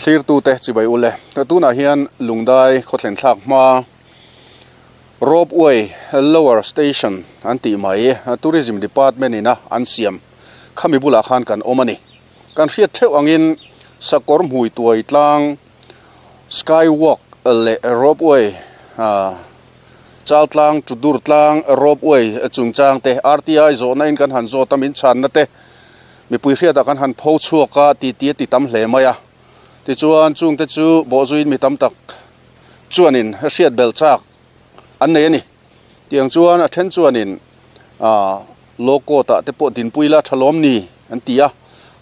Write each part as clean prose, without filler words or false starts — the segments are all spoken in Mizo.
Thlirtute chibai ule tunah hian Lungdai khawthlen thlak hma Ropeway Lower Station an tih mai Tourism Department ina an siam khami bulah khan kan awm a ni. Kan hriat theuh angin sakawr hmui tuai tlang Skywalk leh Ropeway chal tlang Tudur tlang Ropeway chungchang te RTI zawhna in kan han zawt a min chhanna te Mipui hriatah kan han pho chhuak a ti ti a ti tam hle mai a. Tichuan chungte chu bawhzuiin mi tam tak chuanin hriat belh chak an nei a ni. Tiang chuan a then chuanin aah law court ah te pawh dinpui la tha lawm ni an ti a.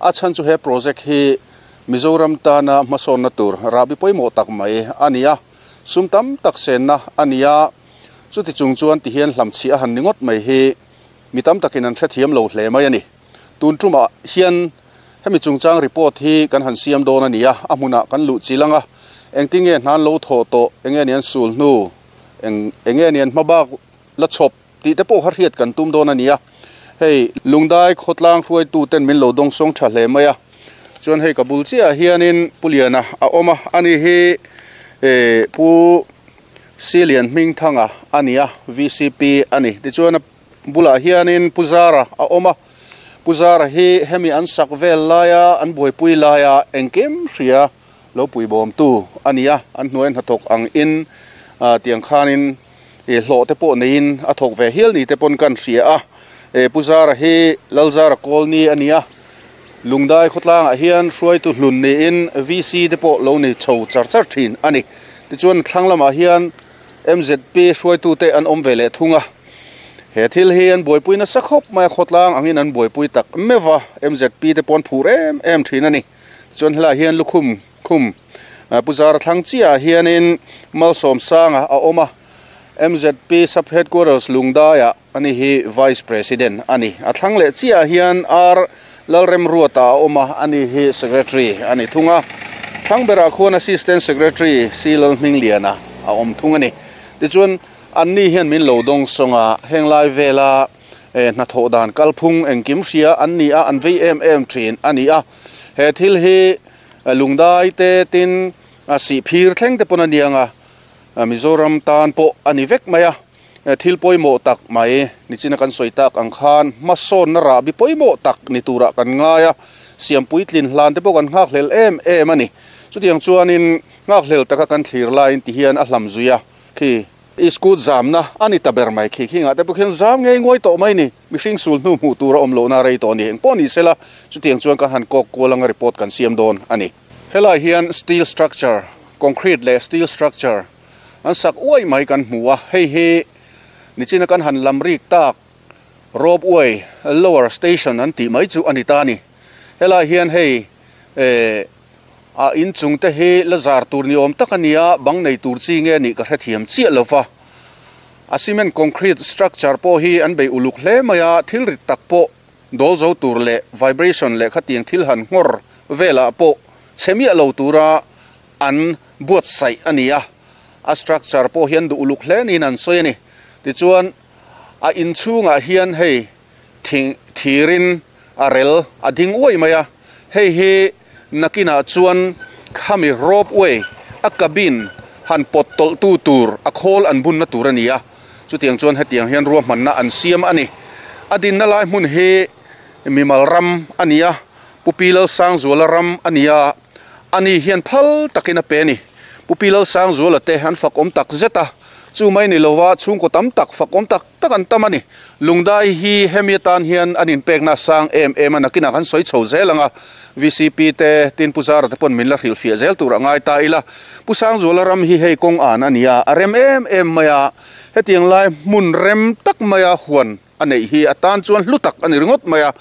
A chhan chu he project hi Mizoram tana hmasawnna tur rahbi pawimawh tak mai a ni a, sum tam tak senna a ni a. Chuti chung chuan tihian hlamchhiah a han ni ngawt mai hi mi tam takin an hrethiam lo hle mai a ni. Tun tumah hian hemi chungchang report hi kan han siam dawn a ni a, a hmunah kan luh chil ang a, engtinge hnan lo thawh tawh, enge ni an sul hnu, eng enge ni an hmabak la chhawp tih te pawh kha hriat kan tum dawn a ni a. Hei Lungdai khawtlang hruaitu ten min lo dawngsawng tha hle mai a, chuan hei ka bul chiahah hianin Pu Liana a awm a, ani hi Pu Silian Hmingthanga a ni a, VCP a ni. Tichuan a Bulah hianin Pu Zara a awm a, Pu Zara hi hemi an sak vel laia an buaipui laia engkim hria lo puibawmtu a ni a, an hnuai hnathawk ang in tiang khanin hlawh te pawh neiin a thawk ve hial ni te pawn kan hria a, Pu Zara hi Lalzara Kawlni a ni a, Lungdai khawtlangah hian hruaitu hlun niin VC te pawh lo ni chho char char thin a ni. Tichuan thlang lamah hian MZP hruaitute an awm ve leh thung a, he thil hi an buaipui nasa khawp mai a, khawtlang angin an buaipui tak meuh va, MZP te pawh an phur em em thin a ni. Tichuan helaiah hian lukhum khum Pu Zara thlang chiahah hianin Malsawmsanga a awm a, MZP Sub Headquarters Lungdaiah ani hi Vice President a ni. A thlang leh chiahah hian R Lalremruata a awm a, ani hi Secretary a ni thung a. Thlang berah khuan Assistant Secretary C Lalhmingliana a awm thung a ni. Tichuan, anni hian min lo dawng sawng a, heng lai vela hnathawh dan kalphung engkim hria an ni a, an vei em em thin a ni a. He thil hi lungdai te tin sihphir thleng te pawn a niang a, Mizoram tan pawh a ni vek mai a. Thil pawimawh tak mai, nichina kan sawi tak ang khan hmasawnna rahbi pawimawh tak ni turah kan ngai a, siampuitlin hlan te pawh kan nghakhlel em em a ni. Chutiang chuanin nghakhlel taka kan thlir laiin ti hian a hlam zui a, khi iskut zamna a ni ta ber mai khi khingah te pawh khian zam ngei nguai tawh mai ni, mihring sul hnu hmuh tur a awm lohna rei tawh a ni. Engpawh ni sela, chutiang chuan kan han kawk kual anga report kan siam dawn a ni. Helai hian steel structure, concrete leh steel structure, An sak uai mai kan hmu a, hei hi nichina kan han lam rik tak Ropeway Lower Station an tih mai chu a ni ta a ni. Helai hian hei eh a inchung te hi la zar tur ni awm tak a ni a, bang nei tur chi nge nih ka hrethiam chiah lo va. A cement concrete structure pawh hi an bei uluk hle mai a, thil rit tak pawh dawl zo tur leh vibration leh khatiang thil han nghawr velah pawh chhe miah lo tura an buatsaih a ni a, a structure pawh hian duh uluk hle niin an sawi a ni. Tichuan a inchhungah hian hei thing thirin a rel a ding uai mai a, hei hi nakinah chuan khami rope way a cabin han pawt tawlh tu tur a khawl an bunna tur a ni a, chutiang chuan hetiang hian ruahmanna an siam a ni. A dinna lai hmun hi mimal ram a ni a, Pu Pi Lalsangzuala ram a ni a, ani hian phal takin a pe a ni. Pu Pi Lalsangzuala te an fak awm tak zet a, chu mai ni lova chhungkaw tam tak fak awm tak tak an tam a ni. Lungdai hi hemi atan hian an inpekna a sang em em a, nakinah kan sawi chho zel ang a, VCP te, tin Pu Zara te pawn min la hrilhfiah zel tur a ngai ta ila. Pu Sangzuala ram hi hei kawng an a ni a, a rem em em mai a, hetiang lai hmun rem tak maia huan a neih hi a tan chuan hlu tak a ni ringawt mai a,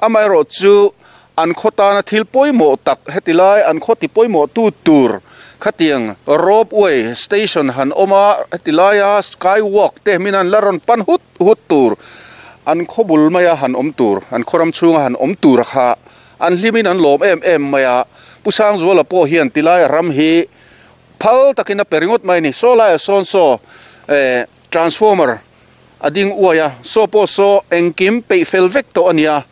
amaherawh chu an khaw tana thil pawimawh tak heti lai an khaw ti pawimawh tu tur khatiang rope way station han awm a, heti laia sky walk te min an la rawn pan hut hut tur an khaw bul maia han awm tur an khaw ram chhunga han awm tur kha an hlimin an lawm em em mai a, Pu Sangzuala pawh hian tilai ram hi phal takin a pe ringawt mai a ni, saw laiah sawn saw eh transformer. A ding uai a, saw pawh saw engkim peih fel vek tawh a nia.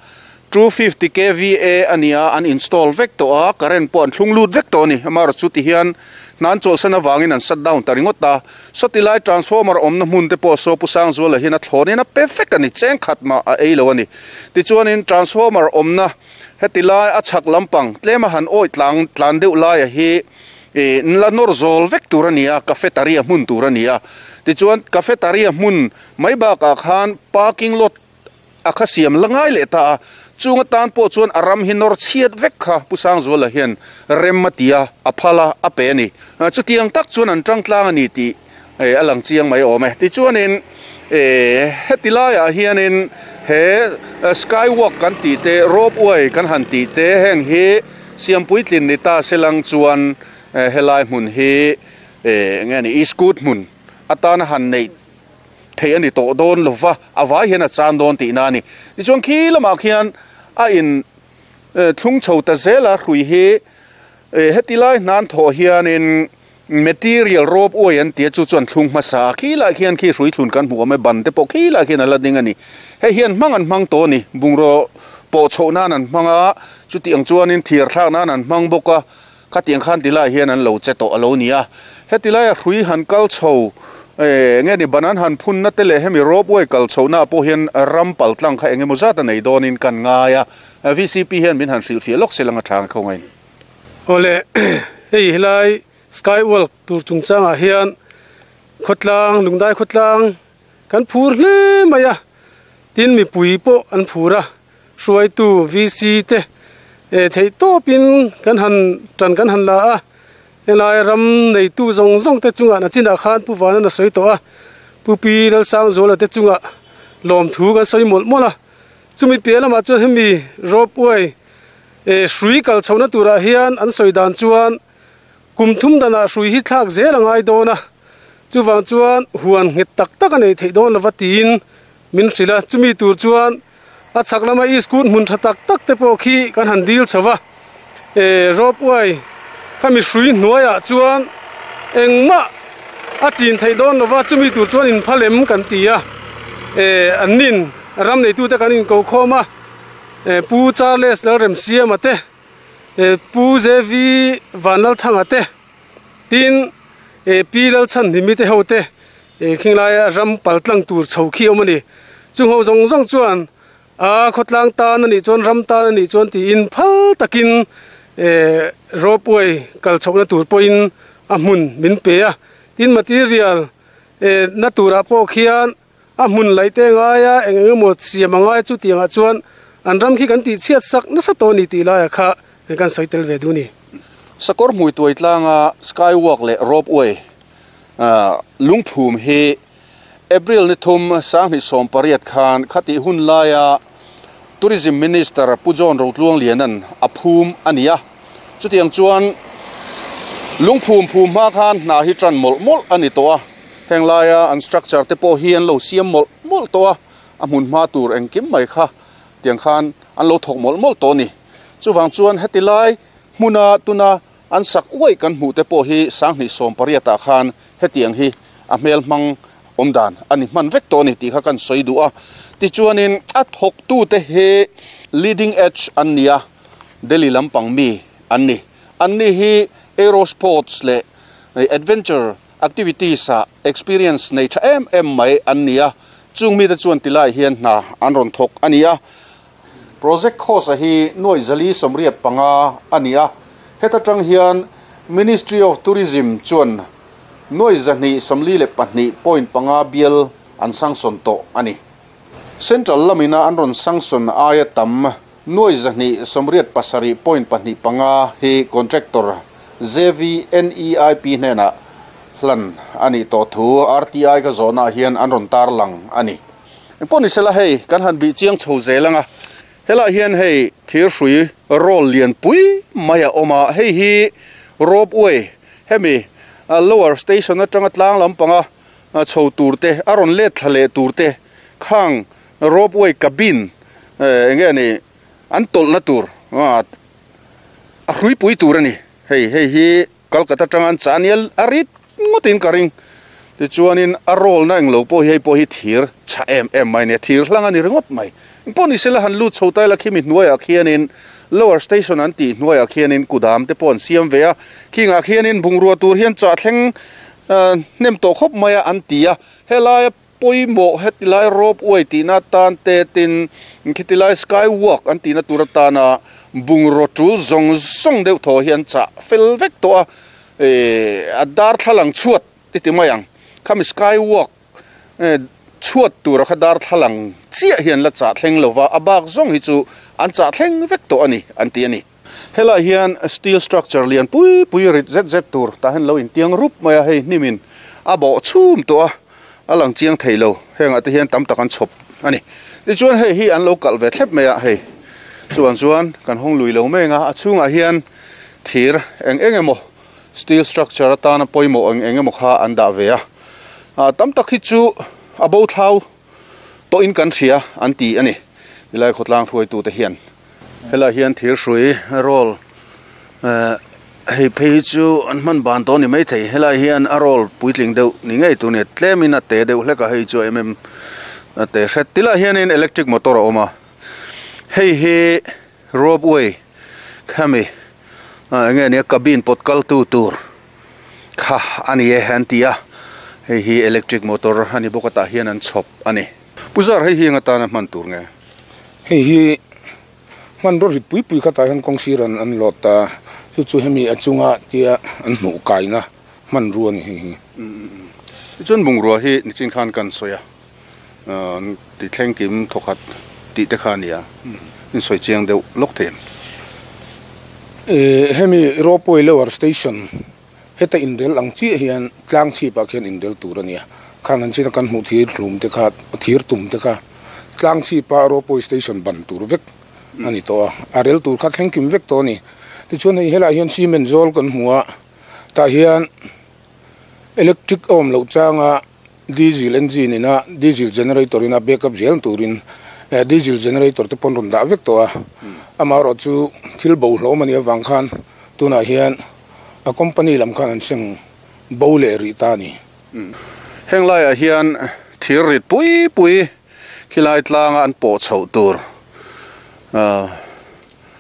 250 kva a nia an install vek tawh a current pawh an thlung lut vek tawh a ni amaherawhchu ti hian hna an chawlhsan avangin an shut down ta ringawt a sawti lai transformer awmna hmun te pawh saw Pu Sangzuala hian a thlawnin a pe vek a ni cheng khat mah a ei lo a ni tichuanin transformer awmna heti lai a chhak lampang tlem a han awih tlang tlan deuh laia hi ih la nawr zawl vek tur a ni a cafetaria hmun tur a ni a tichuan cafetaria hmun mai bakah khan parking lot a kha siam la ngai leh ta a, chung atan pawh chuan a ram hi nawr chhiat vek kha Pu Sangzuala hian rem a ti a, a phal a, a pe a ni. Chutiang tak chuan an tang tlang a ni tih a lang chiang mai awm e. Tichuanin heti laiah hianin he skywalk kan tih te, ropeway kan han tih te heng hi siampuitlin ni ta se lang chuan helai hmun hi enge ni e-scoot hmun atana han neih theih a ni tawh dawn lo va, a vai hian a chan dawn tihna a ni. Tichuan khi lamah khian a in thlung chho ta zel a, hrui hi heti lai hnan thawh hianin material rope way an tia chu chuan thlung hmasa a, khi lai khian khi hrui thlun kan hmuh awm e, ban te pawh khi lai khian a la ding a ni. Hei hian hmang an hmang tawh a ni, bungraw pawh chhoh nan an hmang a, chuti ang chuanin thir thlak nan an hmang bawk a. Khatiang khan ti lai hian an lo che tawh a lo ni a, heti laia hrui han kal chho eh nge ni ban an han phun na te leh hemi ropeway kal chho na pawh hian ram pal tlang kha eng emaw zat a nei dawnin kan ngai a, VCP hian min han hrilhfiah lawk sel anga tha ang kho ngain. Awle hei helai skywalk tur chungchangah hian khawtlang lungdai khawtlang kan phur hle mai a, tin mipui pawh an phur a. Hruaitu VC te theih tawpin kan han tan kan han la a, helai ram neitu zawng zawng te chungah nachinah khan Pu Vanan a sawi tawh a, Pu Pi Lalsangzuala te chungah lawmthu kan sawi mawlh mawlh a, chumi piah lamah chuan hemi ropeway hrui kal chhohna turah hian an sawi dan chuan kum thum danah hrui hi thlak zel a ngai dawn a, chuvang chuan huan nghet tak tak a nei theih dawn lova tiin Min hrilh a, chumi tur chuan a chhak lama iskut hmun tha tak tak te pawh khi kan han dil chho va, eh ropeway kha mi hrui hnuaiah chuan engmah a chin theih dawn lo va, chumi tur chuan in phalem kan ti a, eh an nin ram neitute kan inko khawm a, eh Pu Charles Lalremsiama te, eh Pu JV Vanlalthanga te. Tin, eh Pi Lalchhanhnimi te ho te eh khinglaia ram pal tlang tur chho khi awm a ni. Chung ho zawng zawng chuan a khawtlang tan a nih chuan ram tan a nih chuan tiin phal takin eh ropeway kal chhohna tur pawhin a hmun min pe a. Tin, material eh na turah pawh khian a hmun laih te ngai a, eng eng emaw siam a ngai chu tiangah chuan an ram khi kan tih chhiat sak nasa tawh a ni tih laiah kha kan sawi tel ve duh a ni. Sakawr hmui tuai tlanga skywalk leh ropeway lungphum hi April ni thum sanghnih 18 khan khatih hun laia Tourism Minister Pu John Rotluangliana'n a phum a ni a, chutiang chuan lungphum phum hma khan hna hi tan mawlh mawlh a ni tawh a. Heng laia an structure te pawh hi an lo siam mawlh mawlh tawh a, a hmun hma tur engkim mai kha tiang khan an lo thawk mawlh mawlh tawh a ni. Chuvang chuan heti lai hmuna tuna an sak uaih kan hmuh te pawh hi 2018 ah khan hetiang hi a hmel hmang awm dan a ni hman vek tawh a ni tih kha kan sawi duh a. Tichuanin a thawktute hi leading edge an ni a, Delhi lampang mi an ni. Anni hi aerosports leh adventure Activities ah experience nei tha em em mai an ni a, chung mite chuan ti lai hian hna an rawn thawk a ni a. Project cost a hi nuaih 485 a ni a, heta tang hian Ministry of Tourism chuan nuaih 242.5 bial an sanction tawh a ni. Central lamina an rawn sanction aia tam nuaih 287.25 hi contractor JVNEIP hnenah hlan a nih tawh thu RTI ka zawhnaah hian an rawn tarlang a ni. Engpawh ni sela hei kan han bih chiang chho zel ang a, helaiah hian hei thir hrui roll lian pui mai a awm a, hei hi ropeway hemi lower station atanga tlang lampanga chho tur te a rawn let thla leh tur te khang ropeway cabin eng nge ni an tawlhna tur a hruipui tur a ni hei hei hi Calcutta atanga an chah a nia a rit ngawtin ka ring tichuanin a roll na englo pawh hi hei pawh hi thir chhah em em mai a ni a thir hlang a ni ringawt mai Pawh ni sela han lut chho ta ila khimi hnuaiah khianin lower station an tih hnuaiah khianin kudam te pawh an siam ve a, khingah khianin bungrua tur hian chah thleng hnem tawh khawp mai a an ti a, helaia pawimawh heti lai rope way tihna atan te tin khiti lai sky walk an tihna tur atana bungraw tul zawng zawng deuh thaw hi an chah fel vek tawh a, eh a darthlalang chhuat ti ti mai ang khami sky walk chhuat tura kha darthlalang chiah hi an la chah thleng lo va, a bak zawng hi chu an chah thleng vek tawh a ni an ti a ni. Helai hian steel structure lian pui pui rit zet zet tur tah hian lo intiang rup mai a, hei hnimin a bawh chhum tawh a, a lang chiang thei lo, hengah te hian tam tak an chhawp a ni. Tichuan hei hi an lo kalh ve thlep mai a, hei chuan chuan kan hawng lui lo meng a, a chhungah hian thir eng eng emaw steel structure atana pawimawh eng eng emaw kha an dah ve a, ah tam tak hi chu a bo thlau tawhin kan hria an ti a ni, tilai khawtlang hruaitute hian. Helai hian thir hrui roll eh hei phei hi chu an hman ban tawh a ni maithei helai hian a roll puitling deuh ni ngei tur a ni tlemin a te deuh hlek a hei chu em em a te hret tilai hianin electric motor a awm a hei hi rope way khami ah eng nge nia cabin pawt kal tu tur kha a ni e an ti a hei hi electric motor a ni bawk a tah hian an chhawp a ni. Pu Zar hei hi eng atana hman tur nge? Hei hi hmanraw rit pui pui khatah hian kawng sir an an lawt ta, chu chu hemi a chunga tia an hmuh kaina hmanrua a ni hei hi. Tichuan bungrua hi nichin khan kan sawi a, ti thleng kim thawkhat tih te kha a nia, in sawi chiang deuh lawk thei em? Hemi Ropeway Lower Station Heta inrel ang chiah hian tlang chhipah khian inrel tur a nia. Khan an china kan hmuh thir hlum te kha, thir tum te kha tlang chhipa ropeway station ban tur vek a ni tawh a. A rel tur kha thleng kim vek tawh a ni. Tichuan hei helaiah hian cement zawl kan hmu a, tah hian electric a awm loh changa diesel engine ina diesel generator ina backup zel turin diesel generator te pawn rawn dah vek tawh a. Amaherawhchu thil bo hlawm a nih avang khan tunah hian. A company lam khan an seng bo leh rih ta a ni. Heng laiah hian thir rit pui pui khilai tlanga an pawh chhoh tur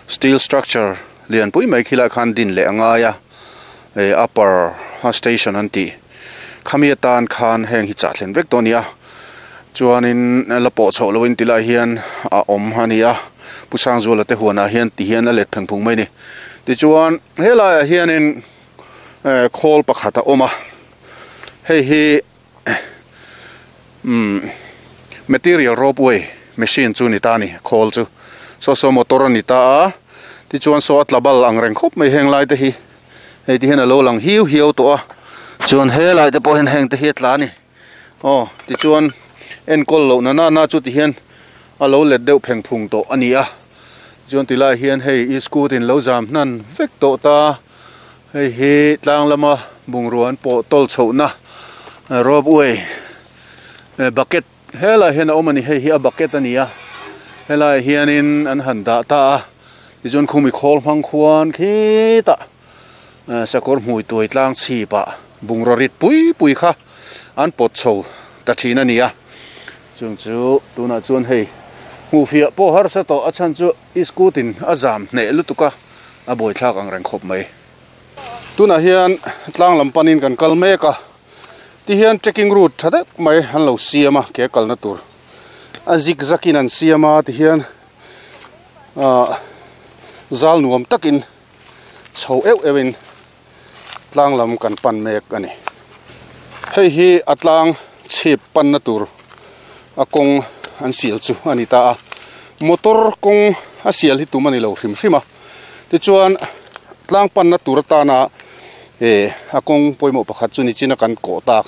steel structure lian pui mai khilai khan din leh a ngai a, upper station an tih khami atan khan heng hi chah thlen vek tawh a ni a, chuanin la pawh chhoh lohin tilai hian a awm a ni a, Pu Sangzuala te huanah hian ti hian a let pheng phung mai a ni. Tichuan helaiah hianin khawl pakhat a awm a, hei hi umm material ropeway machine chu a ni ta a ni khawl chu saw saw motor a ni ta a tichuan saw a tla bal ang reng khawp mai heng lai te hi hei ti hian a lo lang hiu hiau tawh a chuan helai te pawh hian heng te hi a tla a ni aw tichuan enkawl loh na nana chu ti hian a lo let deuh pheng phung tawh a ni a. Chuan ti lai hian hei i scooty in lo zam hnan vek tawh ta, hei hi tlang lama bungrua an pawh tawl chhohna rope way bucket helaiah hian a awm a ni, hei hi a bucket a ni a, helaiah hianin an han dah ta a, tichuan khumi khawl hmang khuan khitah sakawr hmui tuai tlang chhipah bungrua rit pui pui kha an pawt chho ta thin a ni a. Chung chu tunah chuan hei hmuhfiah pawh harsa tawh a chhan chu i scooty in a zam hneh lutuk a, a buaithlak ang reng khawp mai. Tunah hian tlang lam panin kan kal mek a, tihian trekking route tha deuh mai an lo siam a ke kalna tur a zig zag in an siam a tihian ahh zal nuam takin chho euh euh in tlang lam kan pan mek a ni. Hei hi a tlang chhip panna tur a kawng an sial chu a ni ta a, motor kawng a sial hi tum a ni lo hrim hrim a, tichuan tlang panna tur atana eh a kawng pawimawh pakhat chu nichina kan kawh tak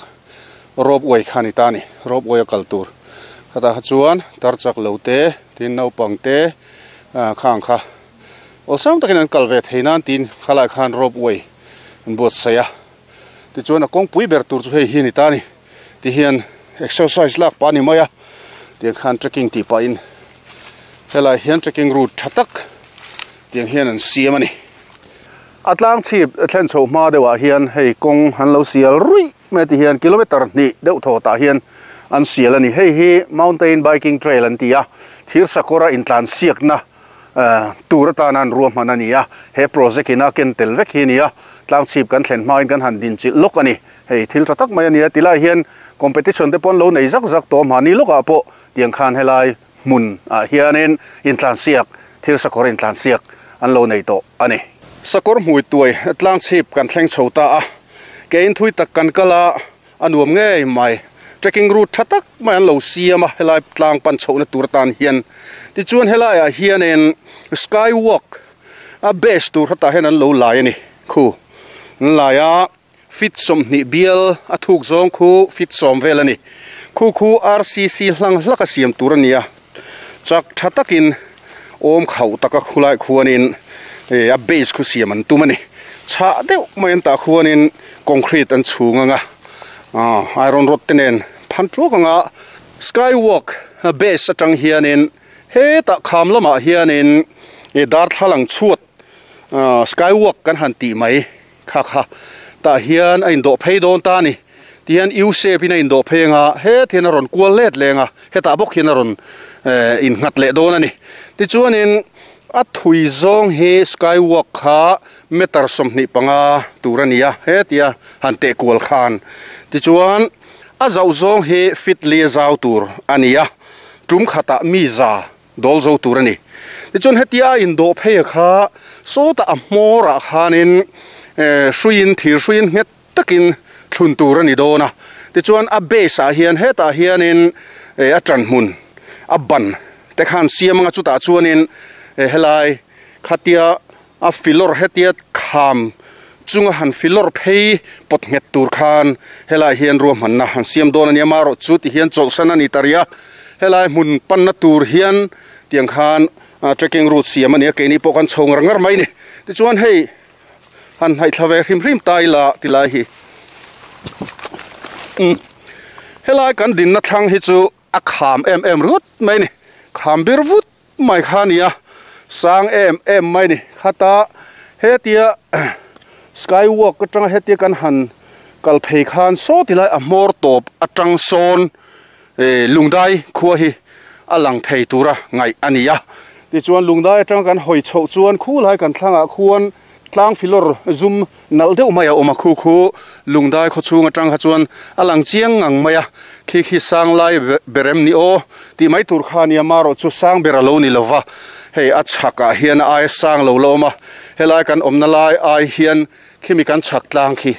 rope way kha a ni ta a ni, rope way a kal tur khatah kha chuan tar chak lo te tin naupang te ah khang kha. Awlsam takin an kal ve thei nan tiin khalai khan rope way an buatsaih a, tichuan a kawngpui ber tur chu hei hi a ni ta a ni tihian exercise lak pah a ni mai a, tiang khan trekking tih pahin helai hian trekking route tha tak tiang hian an siam a ni. A tlang chhip thlen chhoh hma deuhah hian hei kawng an lo sial ruih mai a tihian kilometer hnih deuh thaw tah hian an sial a ni. Hei hi mountain biking trail an ti a, thir sakawra intlan siakna tur atana an ruahman a ni a, he project in a ken tel vek hi a ni a, tlang chhip kan thlen hmain kan han din chilh lawk a ni. Hei thil tha tak mai a ni a, tilai hian competition te pawh an lo nei zak zak tawh a, mahni lawkah pawh tiang khan helai hmun ah hianin intlan siak, thil sakawr intlan siak an lo nei tawh a ni. Sakawr hmui tuai tlang chhip kan thleng chho ta a, kein thui tak kan kal a, A nuam ngei mai. Trekking route tha tak mai an lo siam a helai tlang pan chhohna tur atan hian. Tichuan helaiah hianin sky walk a base tur hetah hian an lo lai a ni. Khu an lai a feet 20 bial a thuk zawng khu feet 10 vel a ni. Khu khu RCC hlang hlak a siam tur a ni a. Chak tha takin awm khauh taka khulai khuanin a base khu siam an tum a ni. Chhah deuh mai an tah khuanin concrete an chhung anga iron rod te nen phan tuak anga sky walk base atang hianin hetah kham lamah hianin darthlalang chhuat sky walk kan han tih mai. Kha kha tah hian a indawh phei dawn ta a ni. Tihian U shape in a indawh phei anga het hian a rawn kual let leng a, hetah bawk hian a rawn innghat leh dawn a ni. Tichuanin a thui zawng hi sky walk kha meter 25 tur a ni a, hetia han teh kual khan. Tichuan a zauh zawng hi feet li a zau tur a ni a, tum khatah mi za dawl zo tur a ni. Tichuan hetia a indawh phei a kha sawtah a hmawrah khanin hruiin thir hruiin nghet takin thlun tur a ni dawn a. Tichuan a base ah hian hetah hianin a tan hmun a ban te khan siam anga chutah chuanin helai khatia A filawr hetia kham chunga han filawr phei pawt nghet tur khan helai hian ruahmanna han siam dawn a nia marawh chu ti hian chawlhsan a ni ta rih a, helai hmun panna tur hian tiang khan trekking route siam a ni a, keini pawh kan chho ngar ngar mai a ni. Tichuan hei han hnaih thla ve hrim hrim ta ila tilai hi umm helai kan dinna thlang hi chu a kham em em ringawt mai a ni, kham bir vut. Mai kha a ni a, sang em em mai a ni. Khata hetia sky walk atanga hetia kan han kal phei khan saw ti lai a hmawr tawp atang sawn lungdai khua hi a lang thei tura ngaih a ni a. Tichuan lungdai atanga kan hawi chhoh chuan khu lai kan thlangah khuan tlang filawr zum nalh deuh mai a awm a, khu khu lungdai khaw chhung atang kha chuan a lang chiang ngang mai a, khi khi sang lai berem ni aw tih mai tur kha a nia, marawh chu sang ber a lo ni lo va, hei a chhak ah hian a ai sang lo la awm a, helai kan awmna lai ai hian khimi kan chhak tlang khi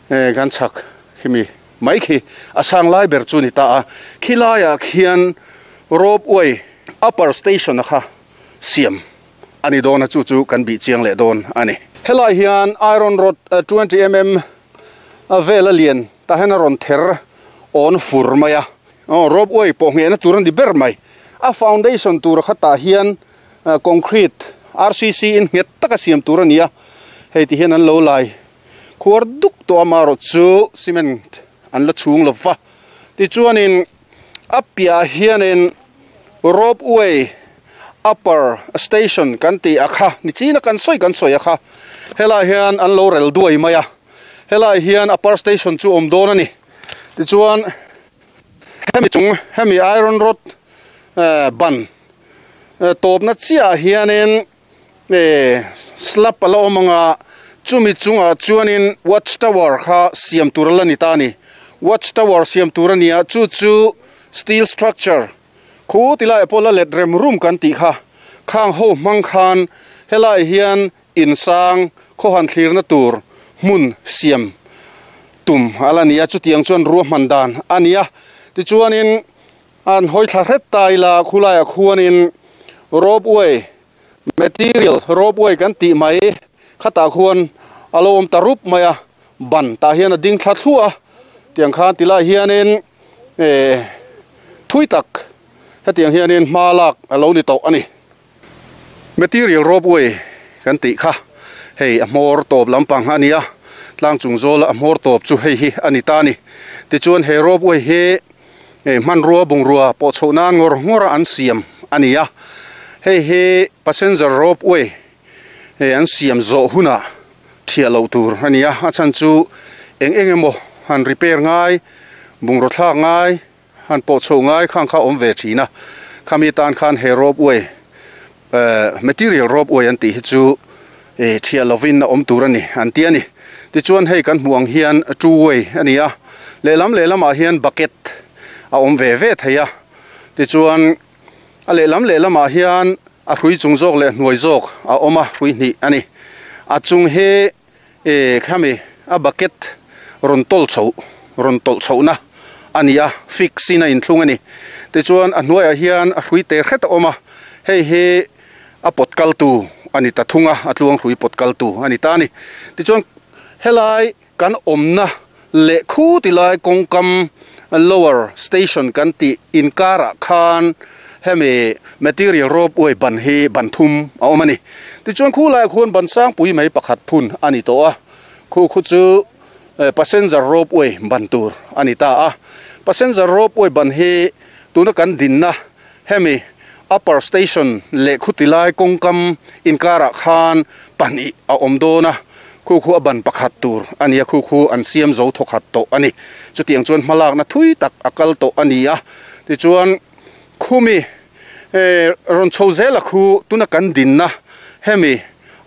kan chhak khimi mai khi a sang lai ber chu a ni ta a, khi laiah khian rope way upper station a kha siam. A ni dawn a, chu chu kan bih chiang leh dawn a ni. Helai hian iron rod 20mm a vel a lian tah hian a rawn ther awn fur mai a. Aw rope way pawh nghehna tur a ni ber mai. A foundation tur khatah hian concrete RCC in nghet taka siam tur a ni a, hei ti hian an lo lai khuar duk tawh a, marawh chu cement an la chhung lo va. Tichuanin a piahah hianin rope way upper station kan tih a kha ni china kan sawi kan sawi a kha helai hian an lo rel duai mai a helai hian upper station chu awm dawn a ni tichuan hemi chung hemi iron rod ban tawpna chiah ah hianin slab a la awm ang a chumi chungah chuanin watch tower kha siam tur a la ni ta a ni watch tower siam tur a ni a chu chu steel structure Khu ti laiah pawh la let rem rum kan tih kha khang ho hmang khan helai hian insang khawhan thlirna tur hmun siam tum a la ni a, chutiang chuan ruahman dan a ni a. Tichuanin an hawi thla hret ta ila khulaiah khuanin rope way material rope way kan tih mai khatah khuan a lo awm ta rup mai a, ban tah hian a ding thla thluah a, tiang khan ti lai hianin. Eh thui tak hetiang hianin hma lak a lo ni tawh a ni. Material ropeway kan tih kha hei a hmawr tawp lampang a ni a, tlang chung zawla a hmawr tawp chu hei hi a ni ta a ni. Tichuan he ropeway hi hmanrua bungrua pawh chhoh nan ngawr ngawr a an siam a ni a, hei hi passenger ropeway an siam zawh hunah thiah loh tur a ni a, a chhan chu eng eng emaw han repair ngai. Bungraw thlak ngai han pawh chho ngai khang kha awm ve thin a, khami tan khan he rope way material rope way an tih hi chu thiah lovin a awm tur a ni an ti a ni. Tichuan hei kan hmuh ang hian two way a ni a, lehlam lehlamah hian bucket a awm ve ve thei a, tichuan a lehlam lehlamah hian a hrui chung zawk leh hnuai zawk a awm a, hrui hnih a ni. A chung hi E khami a bucket rawn tawl chhoh rawn tawlh chhohna a ni a, fix in a inthlung a ni. Tichuan a hnuaiah hian a hrui te hret a awm a, hei hi a pawt kaltu a ni ta thung a, a tluang hrui pawt kaltu a ni ta a ni. Tichuan helai kan awmna leh khu ti lai kawngkam lower station kan tih inkarah khan hemi material rope way ban hi ban thum a awm a ni. Tichuan khu laiah khuan ban sangpui mai pakhat phun a ni tawh a, khu khu chu passenger rope way ban tur a ni ta a. Passenger rope way ban hi tuna kan dinna hemi upper station leh khu ti lai kawngkam inkarah khan pahnih a awm dawn a, khu khu a ban pakhat tur a ni a, khu khu an siam zo thawkhat tawh a ni. Chutiang chuan hmalakna thui tak a kal tawh a ni a, tichuan khumi rawn chho zel a khu tuna kan dinna hemi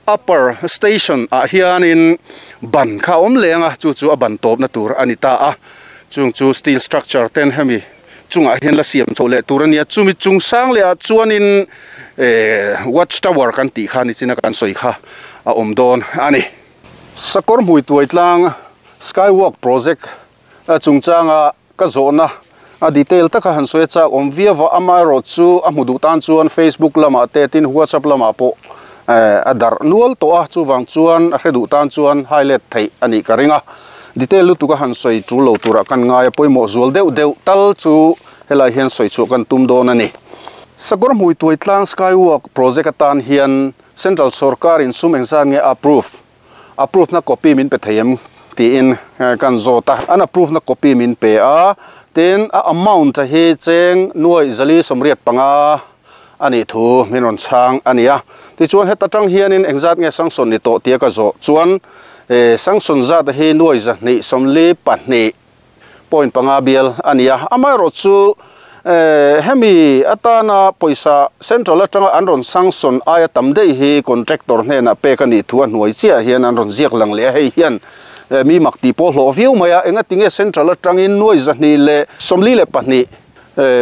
upper station ah hianin ban kha a awm leng a, chu chu a ban tawpna tur a ni ta a, chung chu steel structure ten hemi chungah hian la siam chhoh leh tur a nia, chumi chung sang leh ah chuanin watch tower kan tih kha nichina kan sawi kha a awm dawn a ni. Sakawr hmui tuai tlang skywalk project chungchanga ka zawhna a detail taka han sawi a chak awm viau a, amaherawh chu a hmu duh tan chuan Facebook lamah te tin WhatsApp lamah pawh a darh nual tawh a, chuvang chuan a hre duh tan chuan highlight theih a nih ka ring a. Detail lutuk a han sawi tul lo turah kan ngai a, pawimawh zual deuh deuh tal chu helai hian sawi chhuah kan tum dawn a ni. Sakawr hmui tuai tlang Skywalk project atan hian Central sorkar in sum engzat nge a approve? Approve na copy min pe thei em? tiin kan zawt a, an approve na copy min pe a, tin a amount hi cheng nuaih zali 85 a nih thu min rawn chhang a ni a. Tichuan heta tang hianin engzat nge sanction ni tawh tia ka zawh chuan sanction zat hi nuai 242 point panga bial a ni a. Amaherawh chu hemi atana pawisa central atanga an rawn sanction aia tam daih hi contractor hnenah pek a nih thu a hnuai chiah hian an rawn ziak lang leh a. Hei hian mi mak tih pawh hlawh viau mai a, engatinge central atangin nuai 242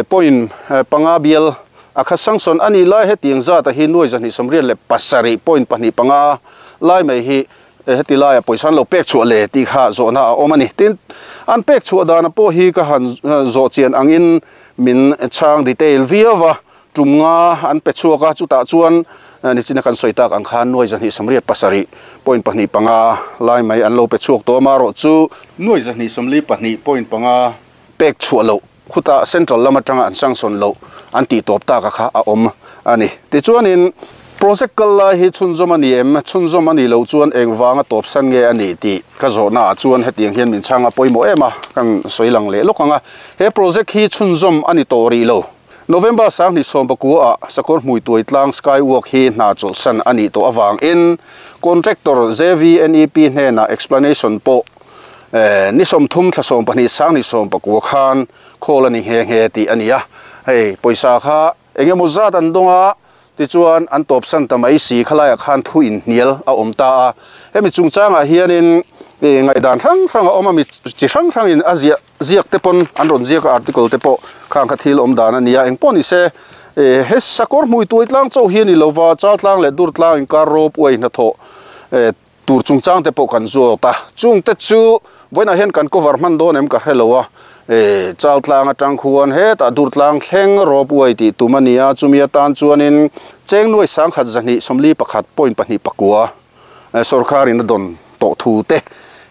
Point panga bial a kha sanction a nih lai hetiang zata hi nuai 287 point pahnih panga lai mai hi heti laia pawisa an lo pek chhuah le tih kha zawhna a awm a ni. Tin, an pek chhuah dana pawh hi ka han zawh chian angin min chhang detail viau va, tum nga an pe chhuak a, chutah chuan nichina kan sawi tak ang khan nuai 287 point pahnih panga lai mai an lo pe chhuak tawh a, marawh chu nuai 242 point panga pek chhuah loh Khutah Central lam atanga an sanction loh an tih tawp tak a kha a awm a ni. Tichuanin project kal lai hi chhunzawm a ni em? Chhunzawm a nih loh chuan eng vanga tawp san nge a nih tih ka zawhna ah chuan hetiang hian min chhang a pawimawh em a, kan sawi lang leh lawk ang a. He project hi chhunzawm a ni tawh rih lo. November 2019 ah Sakawr Hmui Tuai Tlang Skywalk hi hna chawlhsan a nih tawh avangin contractor JVNEP hnenah explanation pawh Ni 30 thla 12 2019 khan call a ni nghe nghe tih a ni a, hei pawisa kha eng emaw zat an dawng a, tichuan an tawpsan ta mai si khalaiah khan thu inhnial a awm ta a, hemi chungchangah hianin ngaihdan hrang hrang a awm a, mi chi hrang hrangin a ziah ziak te pawn an rawn ziak a, article te pawh khang kha thil awm dan a ni a, engpawh ni se he sakawr hmui tuai tlang chauh hi a ni lova, Chaltlang leh Durtlang inkar rope way hnathawh Tur chungchang te pawh kan zawt a, chung te chu vawiinah hian kan cover hman dawn em ka hre lo a, e Chaltlang atang khuan hetah Durtlang thleng rope way tih tum a ni a, chumi atan chuanin cheng nuai 1241 point pahnih pakua sawrkharin a dawn tawh thu te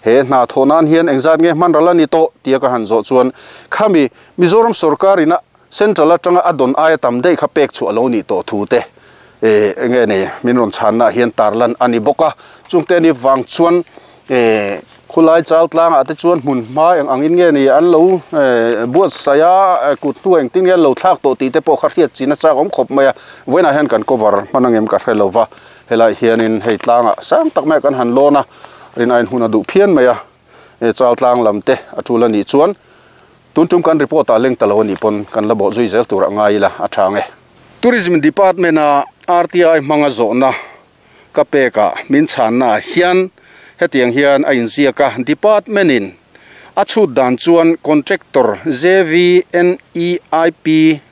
he hna thawh nan hian engzat nge hman ral a ni tawh tia ka han zawh chuan khami Mizoram sawrkarin a Central atanga a dawn aia tam daih kha pek chhuah lo nih tawh thu te eh enge nei min rawn chhanna ah hian tarlan a ni bawk a, chungte ni vang chuan eh khulai chal tlangah te chuan hmun hma eng angin nge ni an lo eh buatsaih a kut hnu engtin nge an lo thlak tawh tih te pawh kha hriat chin a chak awm khawp mai a, vawiinah hian kan cover hman angem ka hre lo va, helaiah hianin hei tlangah sang tak mai ah kan han lawn a, rin aiin hun a duh phian mai a, eh chal tlang lam te a tul a nih chuan. Tun tum kan report ah leng ta lo a nih pawn kan la bawh zui zel tur a ngai ila a tha ang e. Tourism Department a RTI hmanga zawhna ka pek ah min chhanna ah hian hetiang hian a inziak a, Department in a chhut dan chuan Contractor JVNEIP,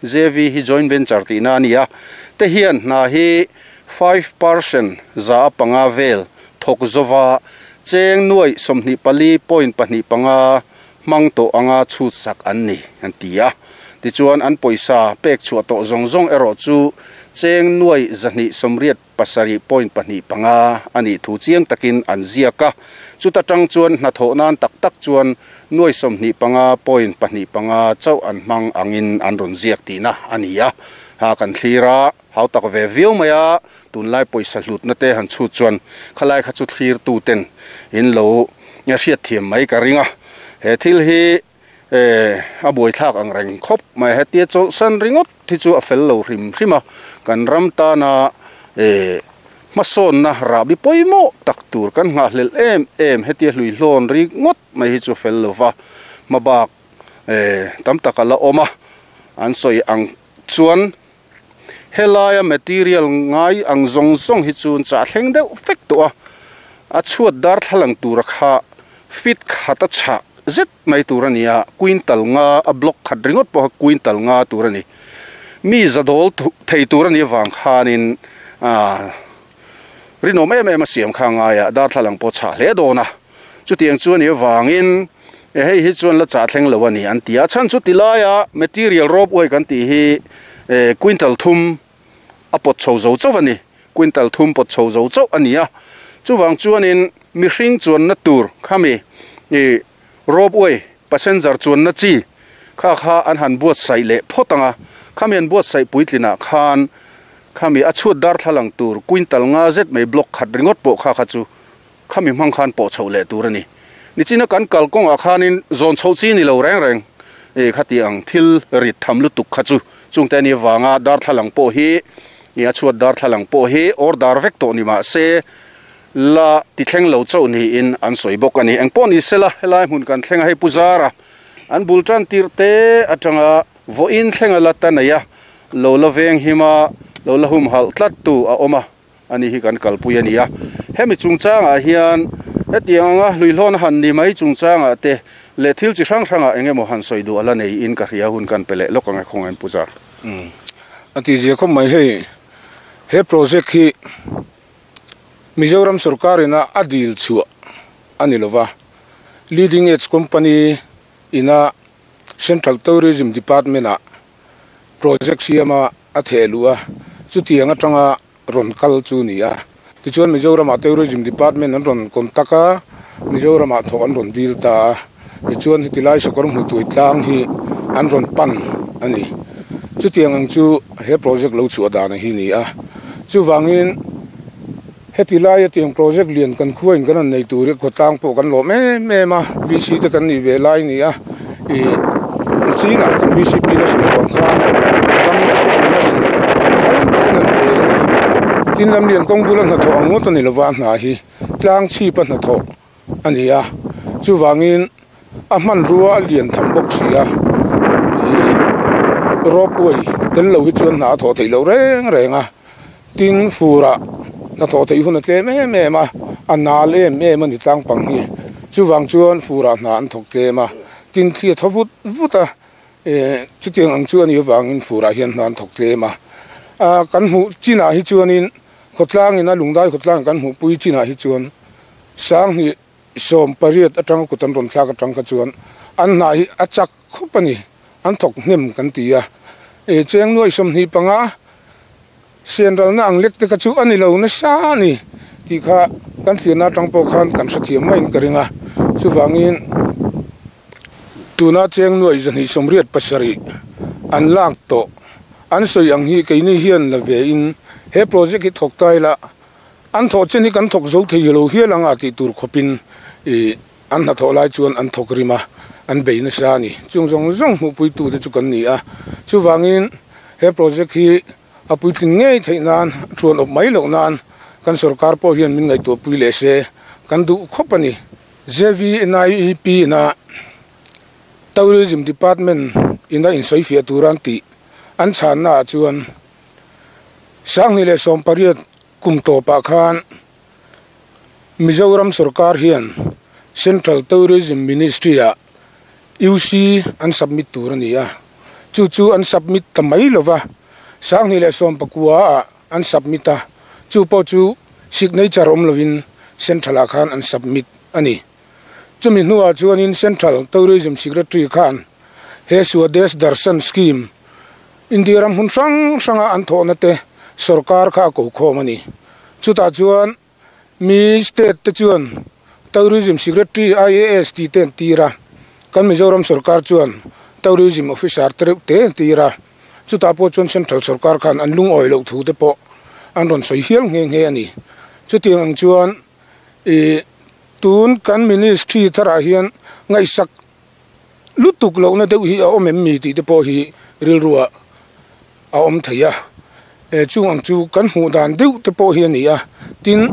JV hi Joint Venture tihna a ni a, te hian hna hi 5% 5% vel thawk zova cheng nuaih 24.25 hmang tawh anga chhut sak an ni, an ti a. Tichuan an pawisa pek chhuah tawh zawng zawng erawh chu cheng nuaih 287.25 a nih thu chiang takin an ziak a. Chuta tang chuan hnathawh nan tak tak chuan nuaih 25.25 chauh an hmang angin an rawn ziak tihna a ni a. Ha kan thlir a. Hau tak ve viau mai a, tunlai pawisa hlutna te han chhut chuan khalai kha chu thlir tu ten in lo hriat thiam mai ka ring a. He thil hi a buaithlak ang reng khawp mai. Hetia chawlhsan ringawt hi chu a fel lo hrim hrim a, kan ram tana hmasawnna rahbi pawimawh tak tur kan nghahhlelh em em hetia hluihlawn ringawt mai hi chu fel lova hmabak tam tak a la awm a, an sawi ang chuan. Helaia material ngai ang zawng zawng hi chu chah thleng deuh vek tawh a, a chhuat darthlalang tura kha fit khat a chhah zet mai tur a ni a, quintal nga a block khat ringawt pawh kha quintal nga tur a ni. Mi za dawl thei tur a nih avang khanin aah rinawm em em a siam kha a ngai a, darthlalang pawh a chhah hle dawn a. Chutiang chu a nih avangin hei hi chuan la chah thleng lo a ni an ti a, chhan chu ti laia material rope way kan tih hi quintal thum a pawt chho zo chauh a ni, quintal thum pawt chho zo chauh a ni a, chuvang chuanin mihring chuanna tur khami rope way passenger chuanna chi kha kha an han buatsaih leh phawt ang a, khami an buatsaih puitlinah khan khami a chhuat darthlalang tur quintal nga zet mai block khat ringawt pawh kha kha chu Khami hmang khan pawh chhoh leh tur a ni. Nichina kan kal kawngah khanin zawn chhoh chi ni lo reng reng e khati ang thil rit tham lutuk kha chu chungte ani avanga darthlalang pawh hi i a chhuat darthlalang pawh hi order vek tawh ni mah se la ti thleng lo chauh niin an sawi bawk a ni. Engpawh ni sela helai hmun kan thleng a hei Pu Zara an bul tan tirh te atanga vawiin thlenga la ta nei a lo la veng him a lo la humhalh tlat tu a awm a. A ni hi kan kalpui a ni a. Hemi chungchangah hian hetiang anga hluihlawn han ni mai chungchangah te leh thil chi hrang hrangah eng emaw han sawi duh a la neiin ka hria hun kan pe leh lawk ang e khawngain Pu Zar. Umm a ti zia khawp mai hei he project hi Mizoram sorkar ina a dil chhuah a ni lova Leading Edge Company ina Central Tourism Department ah project siama a theh luh a chutiang atanga rawn kal chu ni a. Tichuan Mizoramah Tourism Department an rawn contact a, Mizoramah thawh an rawn dil ta a. Tichuan heti lai sakawr hmuhtui tlang hi an rawn pan a ni. Chutiang ang chu he project lo chhuah dan hi ni a. Chuvangin heti laia tiang project lian kan khuain kan rawn nei tur hi khawtlang pawh kan lawm em em a, VC te kan nih ve lai a ni a. Ih chinah kan VCP na sawi tuang khan ram te pawh nena in phal takin an pe a ni. Tin lam lian kawng bula hnathawh ang ngawt a ni lova a hna hi tlang chhip a hnathawh a ni a, chuvangin a hmanrua a lian tham bawk si a, ih rope way tel lo hi chuan hna a thawh theih loh reng reng a, tin furah hnathawh theih hun a tlem em em a, a nal em em a ni tlang pang hi, chuvang chuan furah hna an thawk tlem a, tin thli a thaw vut vut a, eh chutiang ang chu a nih avangin furah hian hna an thawk tlem a, ah kan hmuh chinah hi chuanin khawtlangin a lungdai khawtlang kan hmuh pui chinah hi chuan sanghnih 18 atanga kut an rawn thlak atang kha chuan an hna hi a chak khawp a ni, an thawk hnem kan ti a. E cheng nuai 25 sian ralna ang lek te kha chu a ni lo nasa a ni tih kha kan thliahna atang pawh khan kan hrethiam maiin ka ring a. Chuvangin tuna cheng nuai 287 an lak tawh an sawi ang hi keini hian la ve in he project hi thawk ta ila An thawh chen hi kan thawk zo thei lo hial ang a tih tur khawpin ih an hnathawh lai chuan an thawk rim a, an bei nasa a ni. Chung zawng zawng hmuhpuitute chu kan ni a, chuvangin he project hi a puitlin ngei theih nan, thuan awp mai loh nan kan sorkar pawh hian min ngaihtuahpui leh se kan duh khawp a ni. JVNIEP ina. Tourism Department ina insawifiah tura an tih an chhanna ah chuan 2018 kum tawpah khan Mizoram sorkar hian Central Tourism Ministry ah UC an submit tur a ni a, chu chu an submit ta mai lova, 2019 ah an submit a, chu pawh chu signature awm lovin Central ah khan an submit a ni. Chumi hnuah chuanin Central Tourism Secretary khan he Swadesh Darshan Scheme India ram hmun hrang hranga an thawhna te sorkar kha a ko khawm a ni. Chutah chuan mi state te chuan Tourism Secretary IAS tih te an tir a, kan Mizoram sorkar chuan Tourism Officer te reuh te an tir a, chutah pawh chuan Central sorkar khan an lungawi loh thu te pawh an rawn sawi hial nghe nghe a ni. Chutiang ang chuan Ih, tun kan ministry tharah hian ngaihsak lutuk lohna deuh hi a awm em mi tih te pawh hi rilruah a awm thei a, e chung ang chu kan hmuh dan deuh te pawh hi a ni a, tin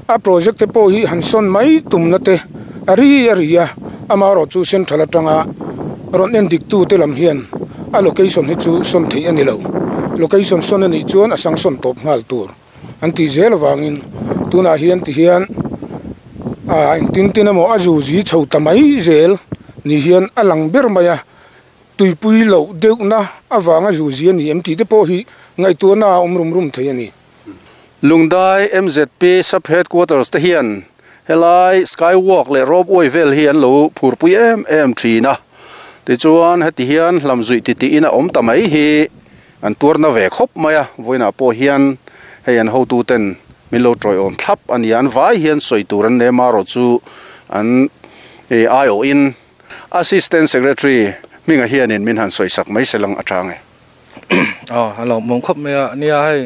a project te pawh hi han sawn mai tumna te a ri a ri a, amaherawh chu central atanga rawn en dik tu te lam hian a location hi chu sawn theih a ni lo, location sawn a nih chuan a sanction tawp nghal tur. An tih zel avangin tunah hian ti hian ah engtin tin emaw a zu zi chho ta mai zel ni hian a lang ber mai a, tuipui loh deuhna avanga zu zi a ni em tih te pawh hi ngaihtuahna a awm rum rum thei a ni. Lungdai MZP Sub Headquarters te hian helai Skywalk leh Ropeway vel hi an lo phurpui em em thin a, tichuan heti hian hlamzuih titih in a awm ta mai hi An tuarna ve khawp mai a, vawiinah pawh hian hei an hotuten min lo tawiawm thlap a ni a, an vai hian sawi tur an nem a erawh chu an aiawhin Assistant Secretary hminga hianin min han sawisak mai se lang a chang e. Aw, a lawmawm khawp mai a, nia hei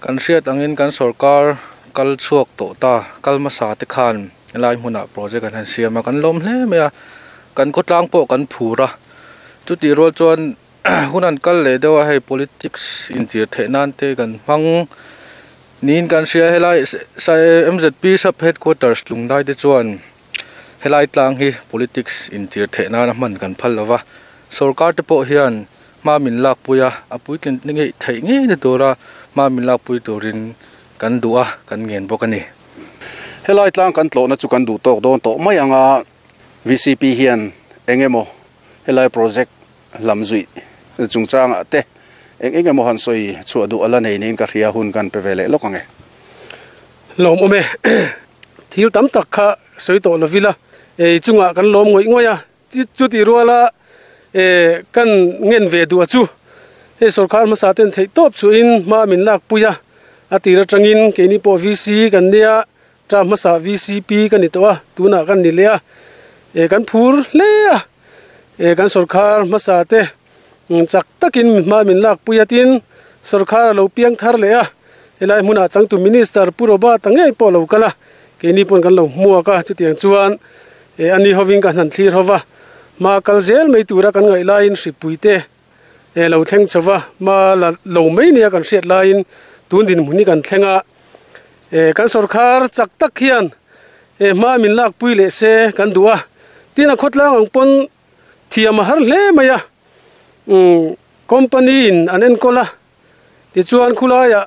kan hriat angin kan sorkar kal chhuak tawh ta, kal hmasa te khan helai hmunah project an han siam a, kan lawm hle mai a, kan khawtlang pawh kan phur a, chutih rual chuan Hun an kal leh deuh a, hei politics inchir theih nan te kan hmang niin kan hria helai MZP sub headquarters Lungdai te chuan helai tlang hi politics inchir theih nana hman kan phal lova, sorkar te pawh hian hma min lakpui a, a puitlin ngei theih ngei na tura hma min lakpui turin kan duh a, kan ngen bawk a ni. Helai tlang kan tlawhna chu kan duh tawk dawn tawh mai ang a, VCP hian eng emaw helai project lam zuih chungchangah te eng eng emaw han sawi chhuah duh a la nei niin ka hria hun kan pe ve leh lawk ang e. Lawm awm e. Thil tam tak kha sawi tawh lo vila ei chungah kan lawm ngawih ngawih a, chutih ruala kan ngen ve duh a chu hei sorkar hmasa ten theih tawp chuhin hma min lak pui a, a tir atangin keini pawh VC kan nia term hmasa VCP ka ni tawh a, tunah kan ni leh a, kan phur hle a. Eh kan sorkar hmasa te chak takin hma min lak pui a tin sorkar a lo piang thar leh a, helai hmunah changtu minister Pu Robert-a ngei pawh a lo kal a, keini pawn kan lo hmuak a, chutiang chuan eh ani hovin ka hnan thlir hova hma kal zel mai tura kan ngaih laiin hripui te eh lo thleng chho va, hma la lo mai nia kan hriat laiin tun dinhmun hi kan thleng a, eh kan sorkar chak tak hian eh hma min lak pui leh se kan duh a, tin a khawtlang ang pawn thiam a har hle mai a, umm company in an enkawl a, tichuan khulaiah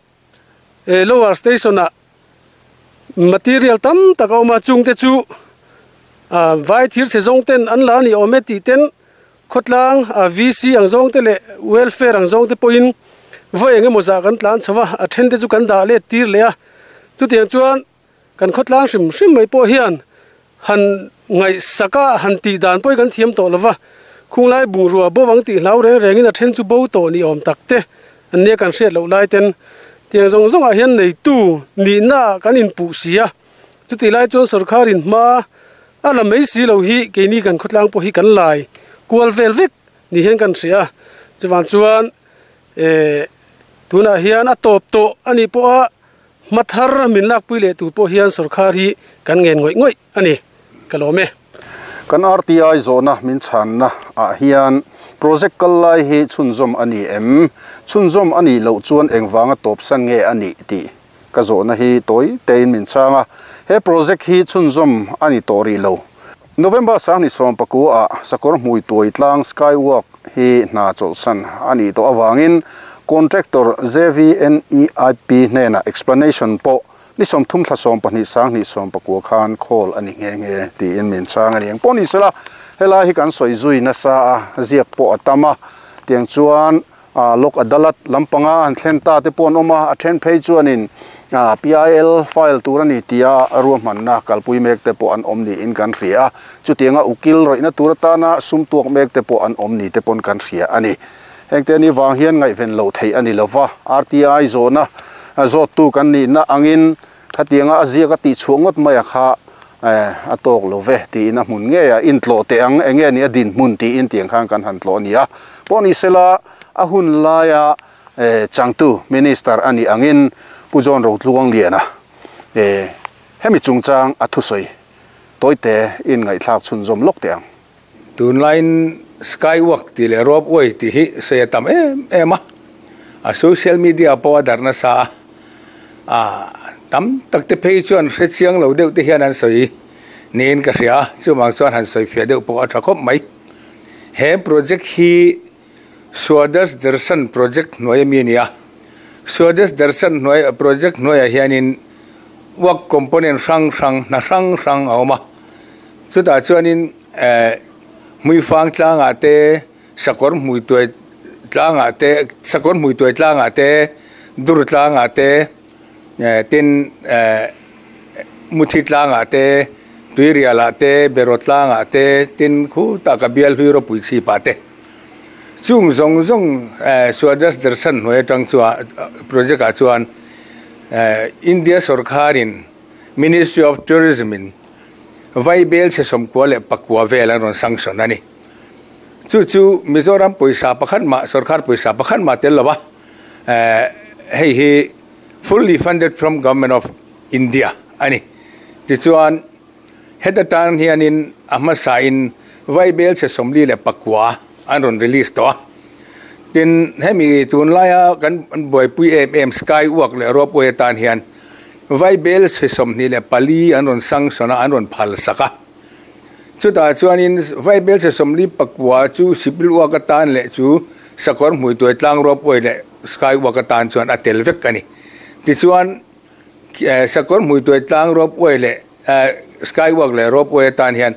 eh lower station ah material tam tak a awm a chung te chu ah vai thir chhe zawng ten an la a ni awm e tih ten khawtlang ah VC ang zawng te leh welfare ang zawng te pawhin vawi eng emaw zah kan tlan chho a a then te chu kan dah let tir leh a chutiang chuan kan khawtlang hrim hrim mai pawh hian han ngaihsak a han tih dan pawh hi kan thiam tawh lo va, khunglai bungrua bo ang tih hlau reng rengin a then chu bo tawh ni awm tak te an nia kan hriat loh lai ten tiang zawng zawngah hian neitu nihna ah kan inpuh si a, chutih lai chuan sorkharin hma a la mai si lo hi keini kan khawtlang pawh hi kan lai kual vel vek ni hian kan hria a, chuvang chuan eh tunah hian a tawp tawh a nih pawh a. Hma thar min lakpui leh tur pawh hian sorkar hi kan ngen ngawih ngawih a ni, ka lawm e. Kan RTI zawhna min chhanna ah hian project kal lai hi chhunzawm a ni em? Chhunzawm a nih loh chuan engvanga tawpsan nge a nih tih ka zawhna hi tawi tein min chhang a. He project hi chhunzawm a ni tawh rih lo. November 2019 ah Sakawr Hmuituai tlang Skywalk hi hna chawlhsan a nih tawh avangin Contractor JVNEIP hnenah explanation pawh ni 30 thla 12 2019 khan khawl a ni nghe nghe tiin min chhang a ni. Engpawh ni sela, helai hi kan sawi zui nasa a, ziak pawh a tam a, tiang chuan Lok Adalat lampanga han thlen ta te pawh an awm a, a then phei chuanin PIL file tur a ni tia ruahmanna kalpui mek te pawh an awm niin kan hria a, chutianga ukil rawihna tur atana sum tuak mek te pawh an awm ni te pawn kan hria a ni. Hengte ni vang hian ngaihven loh theih a ni lova, RTI zawhna zawttu kan nihna angin khatianga a ziak a tihchhuah ngawt mai a kha a tawk lo ve tiin a hmun ngei a intlawh teh ang, enge ni a dinhmun tiin tiang khan kan han tlawh a ni a. Pawh ni sela a hun laia changtu Minister a nih angin Pu John Rotluangliana hemi chungchang a thusawi tawite in ngaihthlak chhunzawm lawk teh ang. Tunlaiin Skywalk tih leh Ropeway tih hi sawi a tam em em a, a social media pawh a darh nasa a, a tam tak te phei chuan hre chiang lo deuh te hian an sawi niin ka hria a, chuvang chuan han sawi fiah deuh pawh a tha khawp mai. He project hi Swadesh Darshan project hnuai ami a ni a, Swadesh Darshan hnuai project hnuaiah hianin work component hrang hrang hna hrang hrang a awm a, chutah chuanin eh hmuifang tlangah te sakawr hmui tuai tlangah te sakawr hmui tuai tlangah te dur tlangah te eh tin eh muthi tlangah te tuirialah te beraw tlangah te tin khutah ka bial hlui ropui chhipah te chung zawng zawng eh Swadesh Darshan hnuai atang chuan project ah chuan eh India sawrkharin Ministry of Tourism in Vaibel chhe 94 vel an rawn sanction a ni. Chu chu Mizoram pawisa pakhat mah sawrkar pawisa pakhat mah tel lo a, eh hei hi fully funded from Government of India a ni. Tichuan heta tan hianin a hmasain Vaibel chhe 49 an rawn release tawh a. Tin, hemi tunlaia kan buaipui em em Sky Walk leh Ropeway atan hian Vaibel chhe 24 an rawn sanction a, an rawn phal sak a. Chutah chuanin Vaibel chhe 49 chu Sipil Walk atan leh chu Sakawr Hmuituai Tlang Ropeway leh Sky Walk atan chuan a tel vek a ni. Tichuan, Sakawr Hmuituai Tlang Ropeway leh Sky Walk leh Ropeway atan hian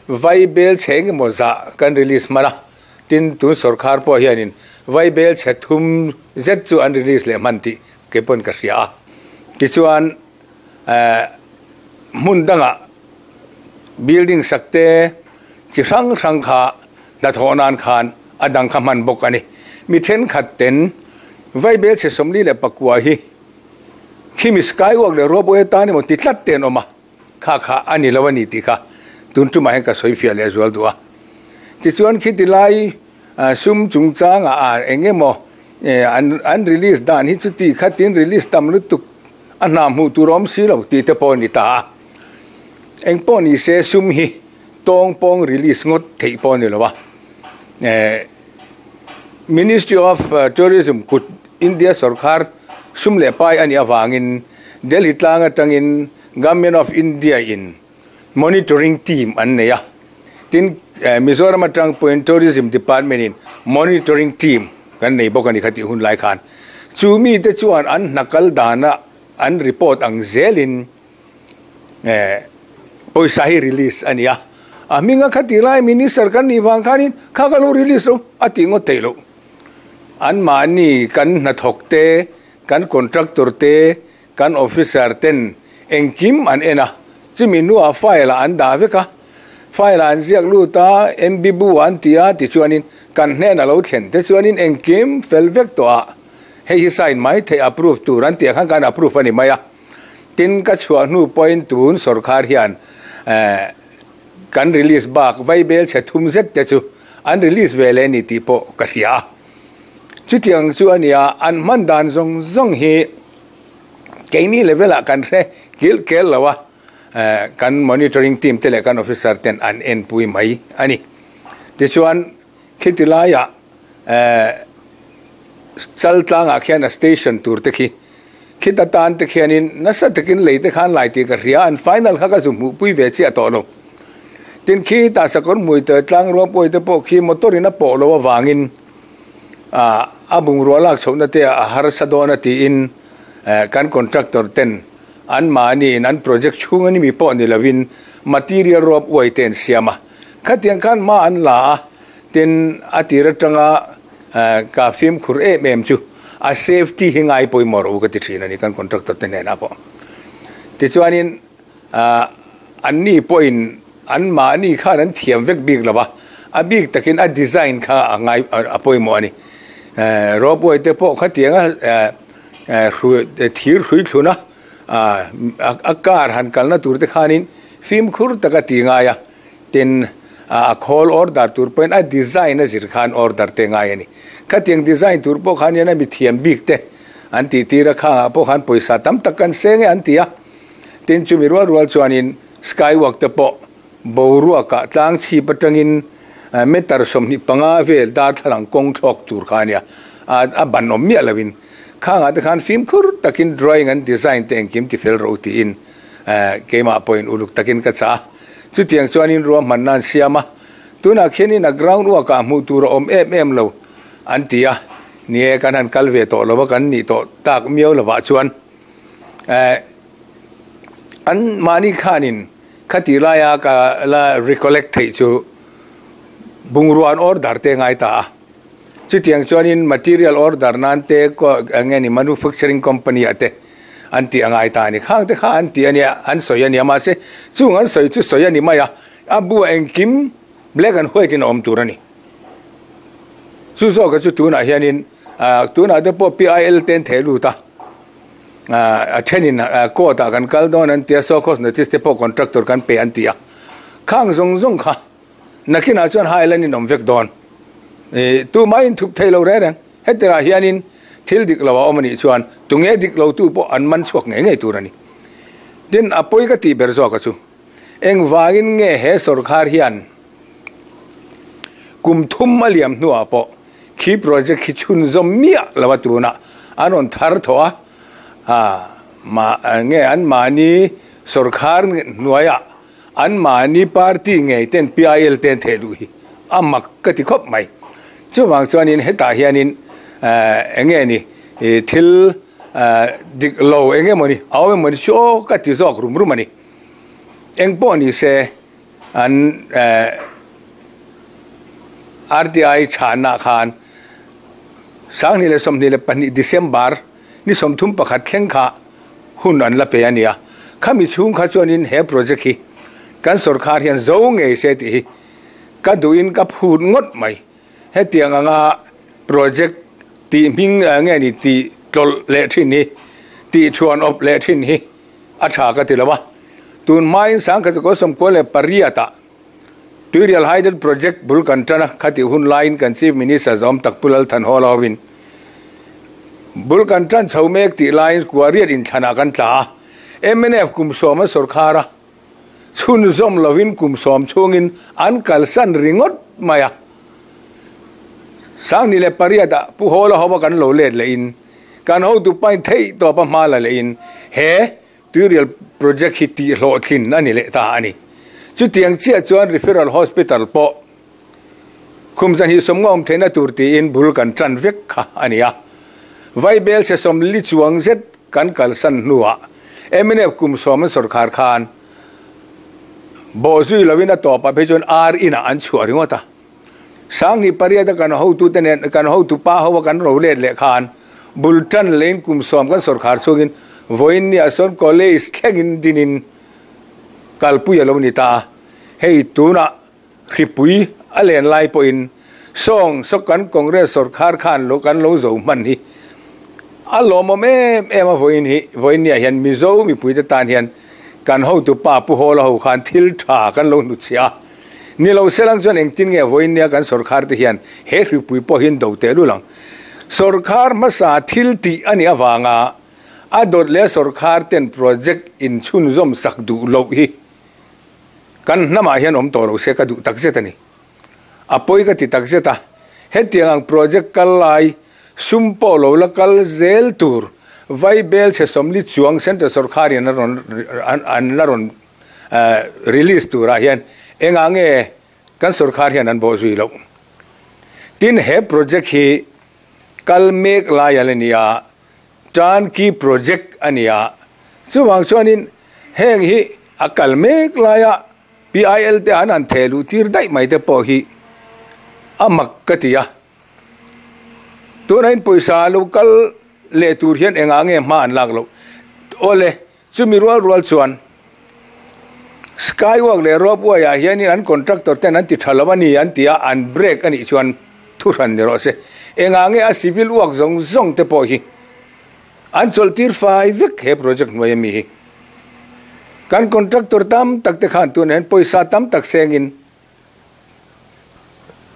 Vaibel chhe engemaw zah kan release hman a. Tin, tun sawrkhar pawh hianin Vaibel chhe thum zet chu an release leh hman tih kei pawn ka hria a. Tichuan, hmun dangah building sak te chi hrang hrang kha hnathawh nan khan a dang kha hman bawk a ni. Mi thenkhat ten Vaibel chhe 49 hi khimi skywalk leh ropeway atan emaw ti tlat te an awm a. Kha kha a ni lo a ni tih kha tun tumah hian ka sawi fiah leh zual duh a. Tichuan khiti lai sum chungchangah a eng emaw an release dan hi chuti khatin release tam lutuk a hna hmuh tur awm si lo tih te pawh a ni ta a. Eng pawh ni se sum hi tawng pawng release ngawt theih pawh a ni lo a. Ministry of Tourism kut India sawrkhar sum leh pai a nih avangin Delhi tlang atangin Government of India in monitoring team an nei a, tin Mizoram atang pawhin Tourism Department in monitoring team kan nei bawk a ni kha tih hun lai khan. Chu mite chuan an hna kal dana an report ang zelin pawisa hi release a ni a. A hminga kha tih lai Minister kan nih vang khanin kha ka lo release lo a tih ngawt theih loh. Anmahni kan hnathawk te, kan contractor te, Kan officer ten engkim an en a, chumi hnuah file ah an dah vek a, file ah an ziak lut a, MB bu an ti a tichuanin kan hnen a lo thlen te chuanin engkim fel vek tawh a, hei hi sign mai theih approve tur an tih ang khan kan approve a ni mai a. Tin, ka chhuah hnu pawhin tun sawrkhar hian kan release bak vaibel chhe thum zet te chu an release ve leh a ni tih pawh ka hria a. Chutiang chu a nia, an hman dan zawng zawng hi keini level ah kan hre kilh kel lo a, kan monitoring team te leh kan officer ten an enpui mai a ni. Tichuan khiti laiah Chaltlangah khian a station tur te khi khita tan te khianin nasa takin lei te khan lai tih ka hria, an final kha ka zu hmuhpui ve chiah tawh lo. Tin khi tah sakawr hmui te tlang ruang pawh te pawh khi motor in a pawh loh avangin a bungrua lak chhohna te a harsa dawn a tiin kan contractor ten an mahni in an project chhung a ni mi pawh ni lovin material ruap uai te an siam a. Khatiang khan hma an la a, tin a tir atanga ka fimkhur em em chu a safety hi ngai pawimawh rawh u ka ti thin a ni kan contractor te hnenah pawh. Tichuanin an ni pawhin an mahni khan an thiam vek bik lo va, a bik takin a design kha a ngai a pawimawh a ni. Ropeway te pawh khatianga thir hrui thlun a, a car han kalna tur te khanin fimkhur taka ti ngai a, tin a khawl order tur pawhin a design a zir khan order te ngai a ni. Khatiang design tur pawh khan hian a mithiam bik te an tih tir a, khangah pawh khan pawisa tam tak kan seng e an ti a. Tin chumi rual rual chuanin skywalk te pawh boruakah tlang chhip atangin meter 25 vel darthlalang kawng thlawk tur kha a nia, a ban awm miah loin khangah te khan fimkhur takin drawing an design te engkim ti fel rawh u tiin keimah pawhin uluk takin ka chah a. Chutiang chuanin ruahmanna an siam a, tunah khianin a ground work ah hmuh tur a awm em em lo an ti a, ni e kan han kal ve tawh lo a kan nih tawh tak miau lovah chuan. An mahni khanin khati laia ka la recollect theih chu bungrua an order te ngai ta a. Chutiang chuanin material order nan te eng nge ni manufacturing company ah te an tih a ngai ta a ni. Khang te kha an tih a nia, an sawi a nia mahse chung an sawi chu sawi a ni mai a, a buah engkim black and white in a awm tur a ni. Chu zawka chu tunah hianin tunah te pawh PIL te an theh lut a, a thenin court ah kan kal dawn an ti a, so cause notice te pawh contractor kan pe an ti a, khang zawng zawng kha nakinah chuan highland in awm vek dawn. Tumah in thup thei lo reng reng, hetirah hianin thil dik lo a awm a nih chuan tunge dik lo tu pawh an man chhuak ngei ngei tur a ni. Tin, a pawi ka tih ber zawka chu engvangin nge he sawrkhar hian Kum thum a liam hnuah pawh khi project khi chhunzawm miah lo a tunah an rawn thar thawh a, ha mah nge an mahni sawrkhar hnuaiah an mahni party ngei ten PIL te an theh duh hi a mak ka ti khawp mai. Chuvang chuanin hetah hianin eng nge ni thil dik lo eng emaw ni a awm emaw ni chu aw ka ti zawk rum rum a ni. Eng pawh ni se. An RTI chhanah khan 2022 December ni 31 thleng kha hun an la pe a nia. Khami chhung kha chuanin he project hi kan sawrkhar hian zo ngei se tih hi ka duhin ka phut ngawt mai. Hetiang anga project tih hming nge ni tih tlawlh leh thin hi, tih thuan awp leh thin hi a tha ka ti lo a. Tun hmain 1998 ah Tuirial Hydel Project bul kan tan a, khatih hun laiin kan Chief Minister zawm tak Pu Lalthan Hall hovin bul kan tan chho mek tih laiin Kuariat inthlanah kan tla a, mnf kum sawm an sawrkhar a, chhunzawm lovin kum sawm chhungin an kalsan ringawt mai a. 2008 ah Pu Hall a hova kan lo let lehin kan hotu pain theih tawpa hma la lehin he Tuirial project hi tih hlawhtlin a ni leh ta a ni. Chutiang chiah chuan Referral Hospital pawh khum zan hi sawmnga awm theihna tur tiin bul kan tan vek kha a ni a. Vaibel chhe 40 chuang zet kan kalsan hnuah mnf kum 10 an sawrkhar khan bawhzui loin a tawpah phei chuan ar inah an chhuah ringawt a. 2008 a kan hotute nen kan hotu pa ho a kan ro let leh khan bul tan lein kum 10 kan sawrkhar chungin vawiin nia sawn college thlengin dinin kalpui a lo ni ta a. Hei tunah hripui a len lai pawhin sawng saw kan Congress sawrkhar khan lo kan lo zo hman hi a lawmawm em em a vawiin hi vawiin nia hian Mizo mipuite tan hian kan hotu pa Pu Hawla ho khan thil tha kan lo hnutchhiah a. Ni lo selang chuan engtin nge vawiin nia kan sawrkhar te hian he hripui pawh hian do teh lul ang. Sawrkhar hmasa thil tih a nih avanga a dawt leh sawrkhar ten project inchhunzawm sak duh loh hi kan hnamah hian awm tawh lo se ka duh takzet a ni. A pawi ka ti takzet a, hetiang ang project kal lai sum pawh lo la kal zel tur Vaibel chhe 40 chuang Central sawrkharin an la rawn. release turah hian engah nge kan sorkar hian an bawhzui loh. Tin, he project hi kal mek lai a la ni a, turnkey project a ni a, chuvang chuanin heng hi a kal mek laia PIL te an han theh luh tir daih mai te pawh hi a mak ka ti a. Tunahin pawisa lo kal leh tur hian engah nge hma an lak loh? Awle, chumi rual rual chuan Skywalk leh Ropeway ah hianin an contractor ten an ti tha lo a ni an ti a, an break a nih chuan thu hran ni rawh se. Engah nge a civil work zawng zawng te pawh hi an chawlh tir fai vek he project hnuai ami hi. Kan contractor tam tak te khan tunah hian pawisa tam tak sengin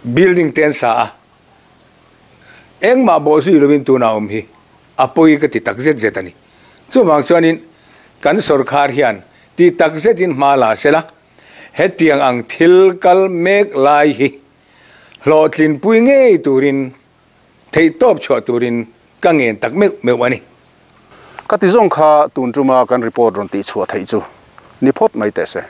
building te an sa a, engmah bawhzui lovin tunah awm hi a pawi ka ti tak zet zet a ni. Chuvang chuanin kan sorkar hian ti tak zetin hma la sela, hetiang ang thil kal mek lai hi hlawhtlinpui ngei turin theihtawp chhuah turin ka ngen tak meuh meuh a ni. Ka ti zawng kha tun tuma kan report rawn tihchhuah theih chu ni phawt mai teh se.